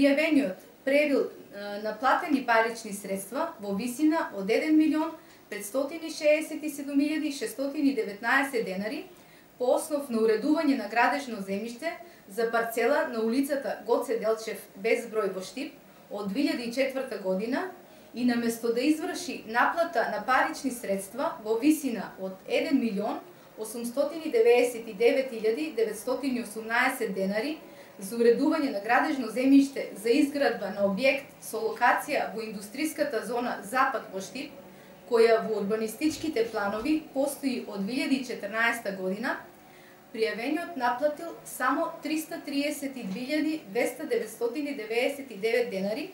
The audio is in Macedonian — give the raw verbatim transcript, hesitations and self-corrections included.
пријавениот превил на платени парични средства во висина од еден милион петстотини шеесет и седум илјади шестстотини и деветнаесет денари по основ на уредување на градежно земјиште за парцела на улицата Гоце Делчев без број во Штип од две илјади и четврта година и наместо да изврши наплата на парични средства во висина од еден милион осумстотини деветдесет и девет илјади деветстотини и осумнаесет денари за уредување на градежно земјиште за изградба на објект со локација во индустриската зона Запад во Штип, која во урбанистичките планови постои од две илјади и четрнаесета година, пријавениот наплатил само триста триесет и две илјади двеста деветстотини деветдесет и девет денари